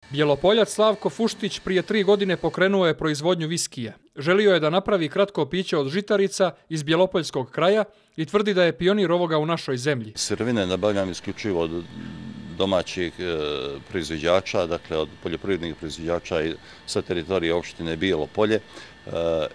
Bjelopoljac Slavko Fuštić prije 3 godine pokrenuo je proizvodnju viskija. Želio je da napravi kratko piće od žitarica iz bjelopoljskog kraja i tvrdi da je pionir ovoga u našoj zemlji. Sirovine nabavljam isključivo od domaćih proizvođača, dakle od poljoprivrednih proizvođača sa teritorije opštine Bijelo Polje.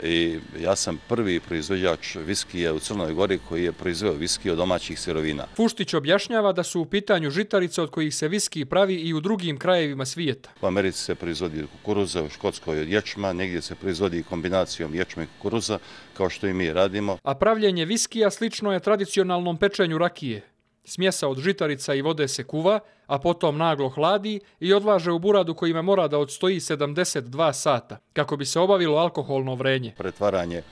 I ja sam prvi proizvođač viskija u Crnoj Gori koji je proizveo viski od domaćih sirovina. Fuštić objašnjava da su u pitanju žitarice od kojih se viski pravi i u drugim krajevima svijeta. U Americi se proizvodi kukuruza, u Škotskoj od ječma, negdje se proizvodi kombinacijom ječma i kukuruza, kao što i mi radimo. A pravljenje viskija slično je tradicionalnom pečenju rakije. Smjesa od žitarica i vode se kuva, a potom naglo hladi i odlaže u buradu kojima mora da odstoji 72 sata, kako bi se obavilo alkoholno vrenje. Pretvaranje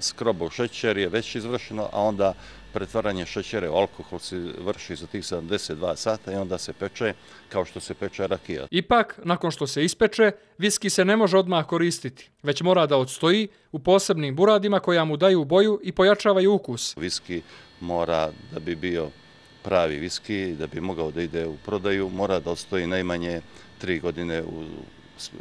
skroba u šećer je već izvršeno, a onda pretvaranje šećera u alkohol se vrši za tih 72 sata i onda se peče kao što se peče rakija. Ipak, nakon što se ispeče, viski se ne može odmah koristiti, već mora da odstoji u posebnim buradima koja mu daju boju i pojačavaju ukus. Viski mora, da bi bio pravi viski, da bi mogao da ide u prodaju, mora da odstoji najmanje 3 godine u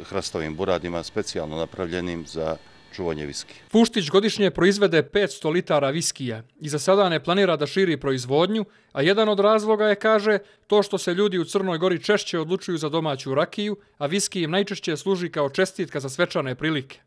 hrastovim buradima, specijalno napravljenim za čuvanje viski. Fuštić godišnje proizvede 500 litara viskija i za sada ne planira da širi proizvodnju, a jedan od razloga je, kaže, to što se ljudi u Crnoj Gori češće odlučuju za domaću rakiju, a viski im najčešće služi kao čestitka za svečane prilike.